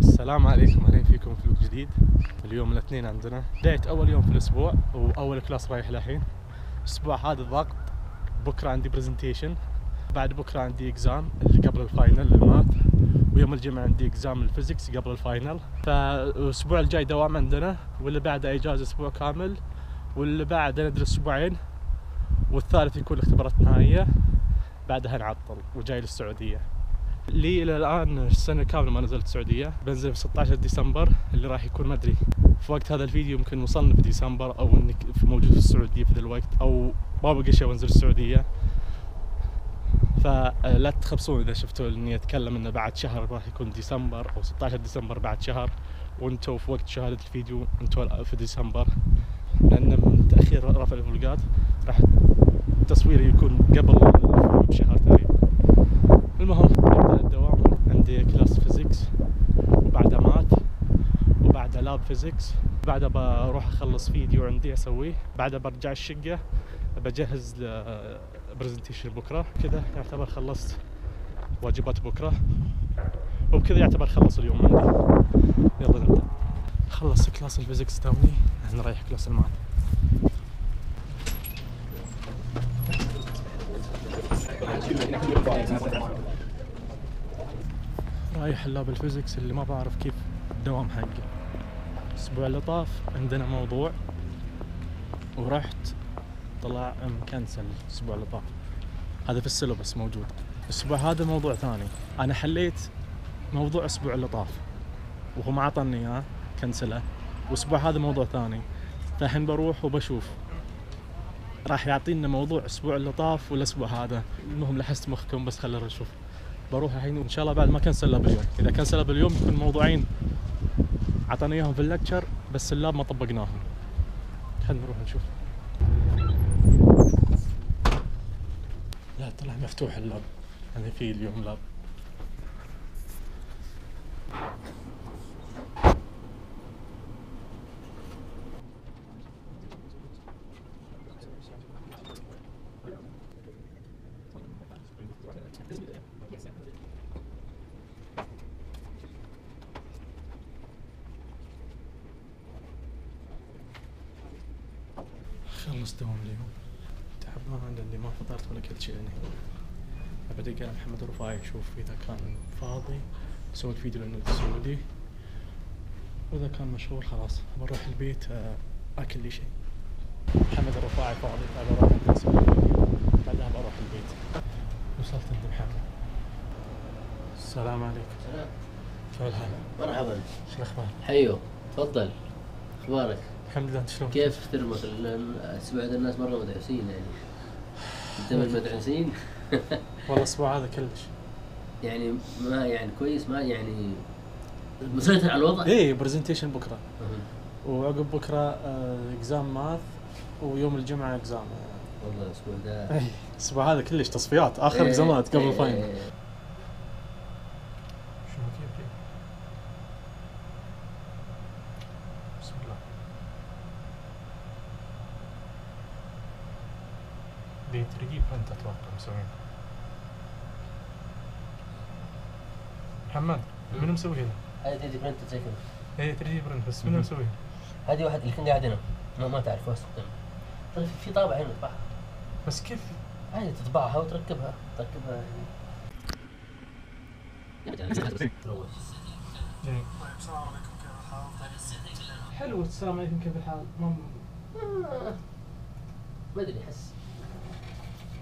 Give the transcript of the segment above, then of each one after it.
السلام عليكم، اهلا فيكم في فلوق جديد. اليوم الاثنين عندنا بداية اول يوم في الاسبوع واول كلاس رايح للحين. الاسبوع هذا ضغط، بكره عندي برزنتيشن، بعد بكره عندي اكزام اللي قبل الفاينل للماث، ويوم الجمعة عندي اكزام الفيزيكس قبل الفاينل. فالاسبوع الجاي دوام عندنا، واللي بعده اجازة اسبوع كامل، واللي بعده ندرس اسبوعين، والثالث يكون اختبارات نهائية، بعدها نعطل وجاي للسعودية. لي الى الان السنه كامله ما نزلت السعوديه، بنزل في 16 ديسمبر اللي راح يكون ما ادري في وقت هذا الفيديو يمكن وصلنا في ديسمبر، او انك موجود في السعوديه في ذا الوقت، او ما بقى شيء وانزل السعوديه. فلا تخبصون اذا شفتوا اني اتكلم انه بعد شهر راح يكون ديسمبر، او 16 ديسمبر بعد شهر، وانتم في وقت شهاده الفيديو انتم في ديسمبر، لان من تاخير رفع الفلوقات راح التصوير يكون قبل بشهر تقريبا. المهم نبدأ الدوام. عندي كلاس فيزيكس، وبعدها ماث، وبعدها لاب فيزيكس، بعدها بروح اخلص فيديو عندي اسويه، بعدها برجع الشقة بجهز برزنتيشن بكرة. كذا يعتبر خلصت واجبات بكرة، وبكذا يعتبر خلص اليوم عندي. يلا نبدأ. خلصت كلاس الفيزيكس توني، احنا رايح كلاس الماث. رايح اللاب الفيزيكس اللي ما بعرف كيف الدوام حقه. الاسبوع اللي طاف عندنا موضوع ورحت طلع مكنسل. الاسبوع اللي طاف هذا في السيلبس موجود. الاسبوع هذا موضوع ثاني، انا حليت موضوع الاسبوع اللي طاف وهو ما عطني اياه، كنسله. والاسبوع هذا موضوع ثاني، فالحين بروح وبشوف راح يعطينا موضوع الاسبوع اللي طاف والاسبوع هذا. المهم لحست مخكم، بس خلينا نشوف. بروح الحين وان شاء الله بعد ما كنسلها باليوم. اذا كنسلها باليوم يكون موضوعين عطاني اياهم في اللكتشر بس اللاب ما طبقناهم. خلينا نروح نشوف. لا طلع مفتوح اللاب، يعني في اليوم لاب. خلص دوام اليوم، تعبان لاني ما فطرت ولا كلت شيء. بدق على محمد الرفاعي اشوف اذا كان فاضي اسوي فيديو لانه السعودي، واذا كان مشغول خلاص بروح البيت اكل لي شيء. محمد الرفاعي فاضي فبروح اسوي فيديو، بعدها بروح البيت. وصلت عند محمد. السلام عليكم. سلام. كيف الحال؟ مرحبا. شو الاخبار؟ حيو، تفضل. اخبارك؟ الحمد لله. انت شلون؟ كيف ترمك الاسبوع هذا؟ الناس مره مدعوسين يعني. انت من المدعوسين؟ والله الاسبوع هذا كلش يعني ما يعني كويس، ما يعني مسيطر على الوضع؟ ايه برزنتيشن بكره، وعقب بكره اكزام ماث، ويوم الجمعه اكزام. والله الاسبوع ده ايه الاسبوع هذا كلش تصفيات، اخر اكزامات قبل الفاينل. شنو كيف بسم الله. دي 3 دي برنت اتوقع مسوين. محمد منو مسوي هنا؟ هذه 3 دي برنت زي كذا. ايه 3 دي برنت، بس منو مسويها؟ هذه واحد اللي كان قاعد هنا، ما تعرف واسطة. طيب في طابعة هنا تطبعها. بس كيف؟ عادي تطبعها وتركبها يعني. السلام عليكم، كيف الحال؟ حلو. السلام عليكم، كيف الحال؟ ما ادري، احس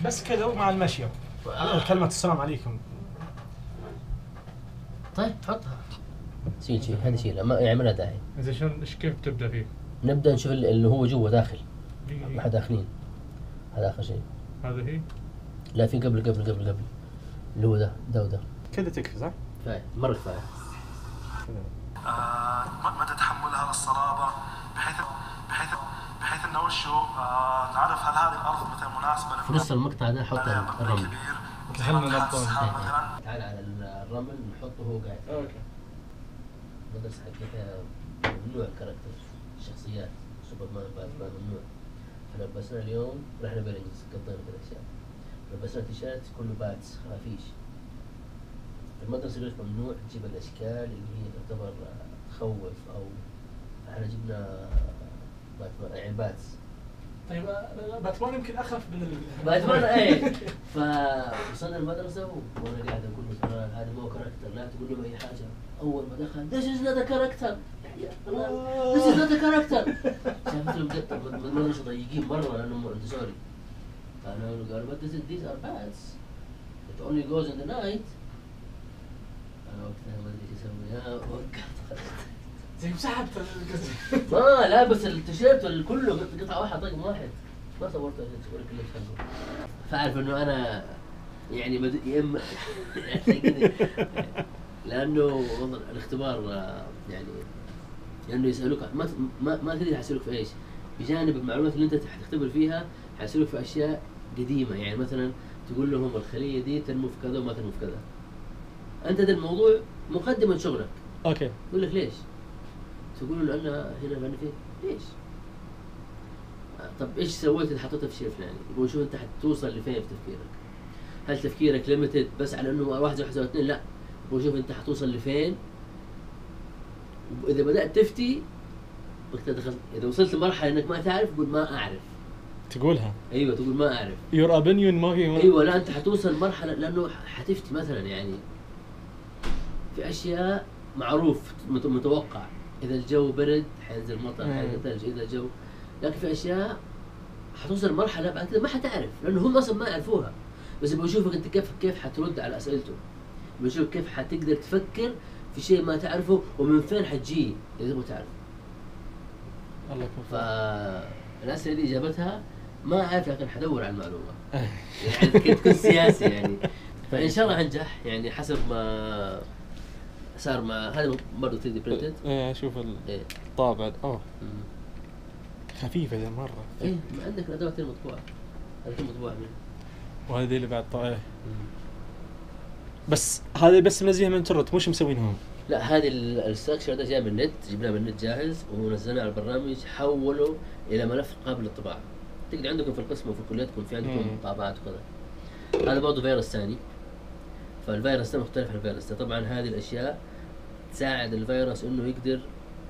بس كذا ومع المشي كلمة السلام عليكم. طيب حطها. شيل هذا شيل، يعني ما له داعي. إذا شلون كيف تبدأ فيه؟ نبدأ نشوف اللي هو جوا داخل. ما حد داخلين. هذا آخر شيء. هذا هي؟ لا، في قبل اللي هو ده وده. كذا تكفي صح؟ كفاية، مرة كفاية. مدى تحملها للصلابة بحيث انه وشو نعرف هل هذه الارض مثلا مناسبة في نص المقطع ده حط الرمل. دخلنا نبطل. تعال على الرمل نحطه وهو قاعد. اوكي. المدرسة حقتها ممنوع كاركتر الشخصيات، سوبرمان باتمان ممنوع. فلبسنا اليوم رحنا برينجز، قضينا كذا اشياء. لبسنا تيشيرت كله باتس خفيش. المدرسة يقول لك ممنوع تجيب الأشكال اللي هي تعتبر تخوف أو احنا جبنا يعني باتس. طيب باتمان يمكن اخف من باتمان ايه. فوصلنا المدرسة وانا قاعد اقول له ترى هذا مو كاركتر، لا تقول له اي حاجة. اول ما دخل this is not a character this is not a character. شافت له مقطع المدرسة ضيقين مرة لانهم سوري. قالوا but these are bats it only goes in the night. انا وقتها ما ادري ايش اسوي، وقعت زي مسحبت ما لابس التيشيرت كله قطعة واحدة طقم واحد، ما صورته صورك اللبس حقه. فاعرف انه انا يعني يم لانه الاختبار يعني لانه يسالوك ما تدري حيسالوك في ايش، بجانب المعلومات اللي انت حتختبر فيها حيسالوك في اشياء قديمة. يعني مثلا تقول لهم الخلية دي تنمو في كذا وما تنمو في كذا، انت ده الموضوع مقدمة شغلك. اوكي يقول لك ليش؟ تقول له لأن هنا بأنا فيه ليش؟ طب إيش سويت إذا حطيتها في شيء فلاني؟ يقول شو أنت حتوصل لفين في تفكيرك؟ هل تفكيرك ليميتد بس على إنه 1 1 2؟ لا، يقول شوف أنت حتوصل لفين؟ وإذا بدأت تفتي وقتها دخلت، إذا وصلت لمرحلة إنك ما تعرف قول ما أعرف. تقولها؟ أيوه تقول ما أعرف. Your opinion ما هي أيوه لا أنت حتوصل مرحلة لأنه حتفتي مثلا يعني في أشياء معروف متوقع. إذا الجو برد حينزل مطر، حينزل ثلج. إذا الجو، لكن في أشياء حتوصل مرحلة بعد كده ما حتعرف لأنه هم أصلا ما يعرفوها، بس بيشوفك أنت كيف حترد على أسئلته، بيشوفك كيف حتقدر تفكر في شيء ما تعرفه ومن فين حتجي إذا ما تعرف. الله يكون فالأسئلة اللي إجابتها ما أعرف لكن حدور على المعلومة. يعني كنت تكون سياسي يعني. فإن شاء الله حنجح يعني حسب ما صار مع هذا برضه 3D printed. ايه اشوف الطابع خفيفة ذي مرة. ايه ما عندك الادوات المطبوعة، هذه مطبوعة منها وهذه اللي بعد طائع. بس هذه بس منزلها من الانترنت مش مسوينهم. لا هذه الستراكشر ده جاي من النت، جبناه من النت جاهز ونزلناه على البرنامج، حوله الى ملف قابل للطباعة. تقدر عندكم في القسم وفي كليتكم في عندكم طابعات وكذا. هذا برضه فيروس ثاني، فالفيروس ده مختلف عن الفيروس ده. طبعا هذه الاشياء تساعد الفيروس انه يقدر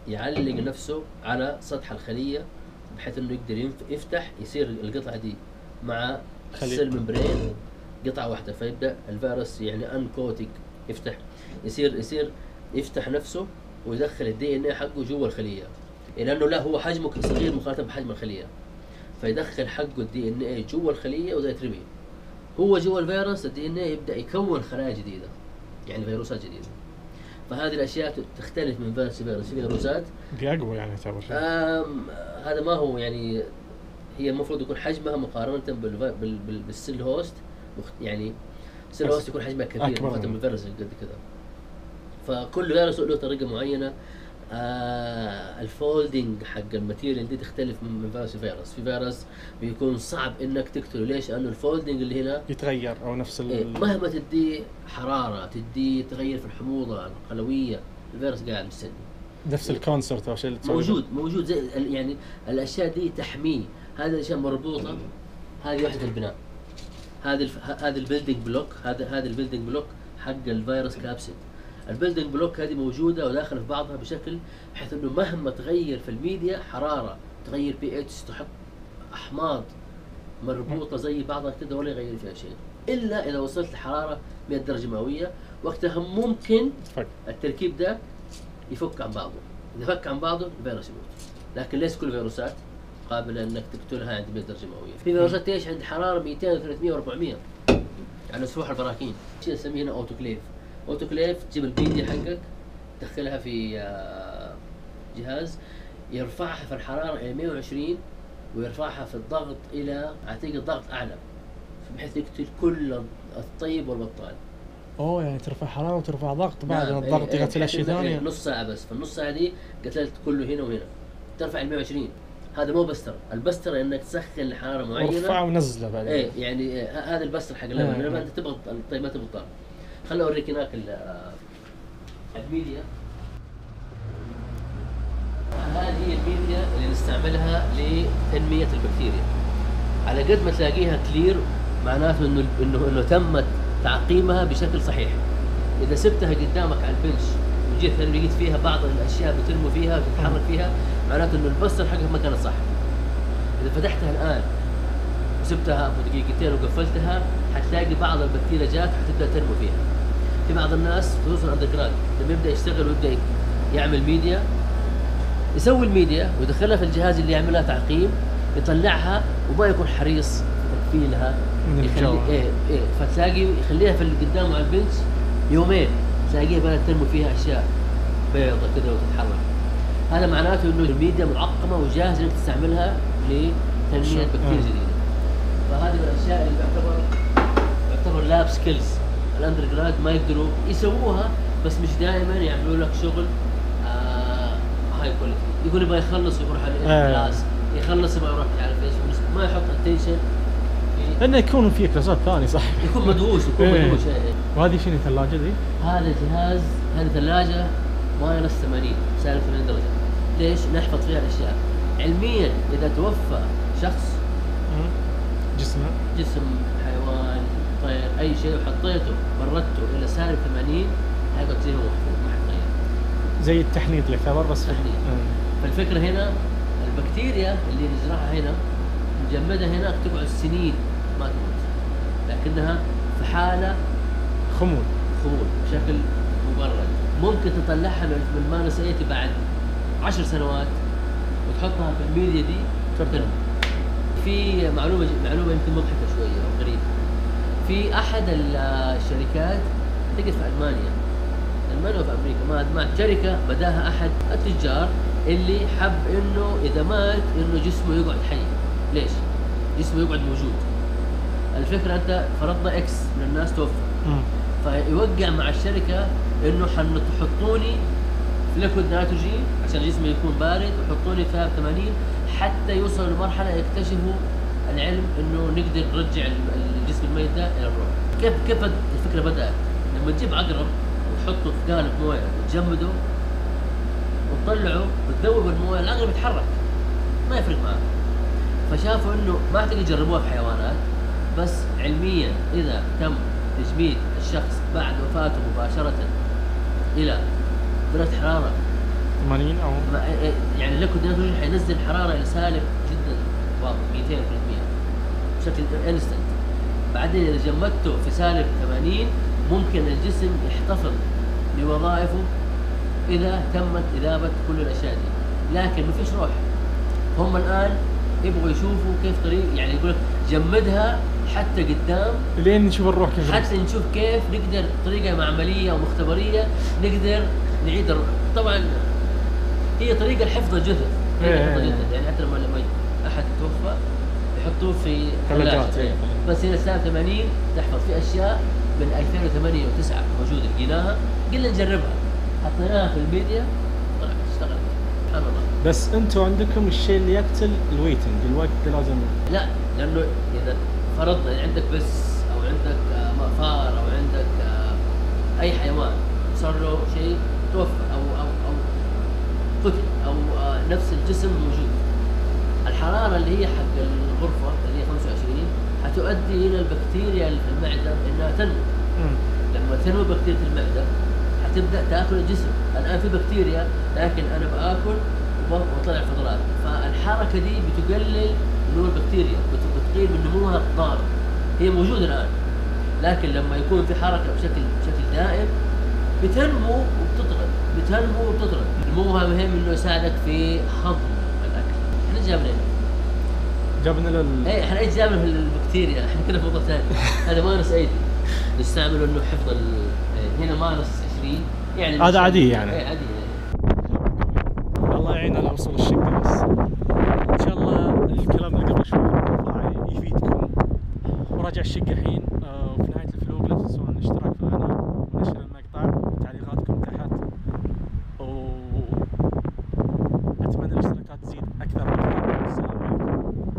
يعلق نفسه على سطح الخلية بحيث انه يقدر يفتح، يصير القطعة دي مع السيل ممبرين قطعة واحدة، فيبدأ الفيروس يعني انكوتيك يفتح، يصير يفتح نفسه ويدخل الدي ان اي حقه جوا الخلية، لانه لا هو حجمه صغير مقارنة بحجم الخلية، فيدخل حقه الدي ان اي جوا الخلية وده يترمي هو جوا الفيروس. الدي ان اي يبدأ يكون خلايا جديدة يعني فيروسات جديدة. فهذه الاشياء تختلف من فيروس لفيروس. في فيروسات دي اقوى يعني تعتبر هذا ما هو يعني، هي المفروض يكون حجمها مقارنة بالسيل هوست يعني السيل هوست يكون حجمها كبير مقارنة بالفيروس قد كذا. فكل فيروس له طريقة معينة. الفولدينج حق الماتيريال دي تختلف من فيروس لفيروس. في فيروس بيكون صعب انك تقتله، ليش؟ لانه الفولدينج اللي هنا يتغير او نفس مهما تدي حرارة تدي تغير في الحموضة القلوية، الفيروس قاعد مستني نفس الكونسرت او شيء موجود زي يعني الاشياء دي تحميه. هذه الاشياء مربوطة، هذه وحدة البناء، هذا البيلدينج بلوك، هذا البيلدينج بلوك حق الفيروس كابسيد. البيلدينج بلوك هذه موجودة وداخلة في بعضها بشكل بحيث انه مهما تغير في الميديا حرارة، تغير بي اتش، تحط احماض مربوطة زي بعضها كده ولا يغير فيها شيء، الا اذا وصلت لحرارة 100 درجة مئوية، وقتها ممكن التركيب ده يفك عن بعضه. اذا فك عن بعضه الفيروس يموت. لكن ليس كل الفيروسات قابلة انك تقتلها عند 100 درجة مئوية. في فيروسات ايش عند حرارة 200 و300 و400 على سفوح البراكين. شيء نسميه هنا اوتوكليف. اوتوكليف تجيب الميديا حقك تدخلها في جهاز يرفعها في الحرارة إلى 120 ويرفعها في الضغط إلى أعتقد ضغط أعلى بحيث يقتل كل الطيب والبطال. يعني ترفع حرارة وترفع ضغط بعد الضغط يقتل أشياء ثانية. نص ساعة بس، في النص ساعة دي قتلت كله هنا وهنا. ترفع 120. هذا مو بستر. البستر إنك تسخن لحرارة معينة ورفعه ونزله بعدين. يعني هذا البستر حق اللبن. لما أنت تبغى الطيب ما تبغى الطعم. خلنا أوريك هناك الميديا. هذه هي الميديا اللي نستعملها لتنمية البكتيريا. على قد ما تلاقيها كلير معناته انه تمت تعقيمها بشكل صحيح. اذا سبتها قدامك على البنش وجيت لقيت فيها بعض الاشياء بتنمو فيها وتتحرك فيها، معناته انه البستر حقها ما كانت صح. اذا فتحتها الان وسبتها دقيقتين وقفلتها حتلاقي بعض البكتيريا جات حتبدا تنمو فيها. في بعض الناس خصوصا اندر جراد لما يبدا يشتغل ويبدا يعمل ميديا، يسوي الميديا ويدخلها في الجهاز اللي يعملها تعقيم، يطلعها وما يكون حريص تكفيلها، يخلي فتلاقي يخليها في اللي قدامه على البنش يومين تلاقيها بدأت تنمو فيها اشياء بيضة كذا وتتحرك. هذا معناته انه الميديا معقمه وجاهزه انك تستعملها لتنميه بكتيريا جديده. فهذه من الاشياء اللي يعتبر لاب سكيلز الاندر جراد ما يقدروا يسووها، بس مش دائما يعملوا لك شغل هاي كواليتي. يقول يبغى يخلص يروح على الكلاس، يخلص يبغى يروح يعرف ايش، ما يحط اتنشن انه يكون في كلاسات ثانيه صح، يكون مدهوش مدهوش. وهذه شنو الثلاجه ذي؟ هذا جهاز، هذه ثلاجه ماينس 80 سالب 80 درجه. ليش؟ نحفظ فيها الاشياء. علميا اذا توفى شخص جسم حيوان طير اي شيء وحطيته بردته الى سالب 80 هيقعد زي ما هو محفوظ ما حيتغير. زي التحنيط اللي يعتبر بس تحنيط. فالفكره هنا البكتيريا اللي نزرعها هنا مجمده هناك تقعد سنين ما تموت، لكنها في حاله خمول بشكل مبرد. ممكن تطلعها من ماينس 80 بعد 10 سنوات وتحطها في الميديا دي ترتب. في معلومه يمكن مضحكه شويه او غريبه. في احد الشركات تقف في المانيا وفي امريكا ما شركه بداها احد التجار اللي حب انه اذا مات انه جسمه يقعد حي. ليش؟ جسمه يقعد موجود. الفكره انت فرضنا اكس من الناس توفى، فيوقع مع الشركه انه حتحطوني في ليكويد نيتروجين عشان جسمي يكون بارد وحطوني في 80 حتى يوصلوا لمرحله يكتشفوا العلم انه نقدر نرجع الجسم الميت ده الى الروح. كيف الفكره بدات؟ لما تجيب عقرب وتحطه في قالب مويه وتجمده وتطلعه وتذوب المويه، العقرب يتحرك ما يفرق معاه. فشافوا انه ما تقدر يجربوها في حيوانات، بس علميا اذا تم تجميد الشخص بعد وفاته مباشره الى درجه حراره 80 او يعني الليكويد نيتروجين حينزل الحراره الى سالب جدا واضح 200 300 بشكل انستنت. بعدين اذا جمدته في سالب 80 ممكن الجسم يحتفظ بوظائفه اذا تمت اذابه كل الاشياء دي، لكن ما فيش روح. هم الان يبغوا يشوفوا كيف طريق، يعني يقول جمدها حتى قدام لين نشوف الروح كيف، حتى نشوف كيف نقدر طريقه معمليه او مختبريه نقدر نعيد طبعا هي طريقه لحفظ الجثث، يعني حتى لما احد توفى يحطوه في ثلاجه بس هنا سالب 80 تحفظ في اشياء من 2008 و9 موجوده لقيناها قلنا نجربها حطيناها في الميديا طلعت اشتغلت سبحان الله. بس انتم عندكم الشيء اللي يقتل الويتنج الوقت لازم لا، لانه اذا فرضنا عندك بس او عندك فار او عندك اي حيوان صار له شيء توفى او قتل او نفس الجسم موجود، الحراره اللي هي حق الغرفه اللي هي 25 حتؤدي الى البكتيريا اللي في المعده انها تنمو. لما تنمو بكتيريا المعده حتبدا تاكل الجسم. الان في بكتيريا لكن انا باكل وطلع فضلات، فالحركه دي بتقلل نمو البكتيريا، بتقلل من نموها الضار. هي موجوده الان لكن لما يكون في حركه بشكل دائم بتنمو وبتطرد. نموها مهم انه يساعدك في هضم الاكل. احنا جابنا ايه احنا ايش جابنا في البكتيريا؟ احنا كنا في موضوع ثاني. هذا ماينس 80 نستعمله انه حفظ هنا ماينس 20 يعني هذا عادي يعني. ايه عادي. الله يعين على وصول الشقه. بس ان شاء الله الكلام اللي قبل شوي يفيدكم. وراجع الشقه الحين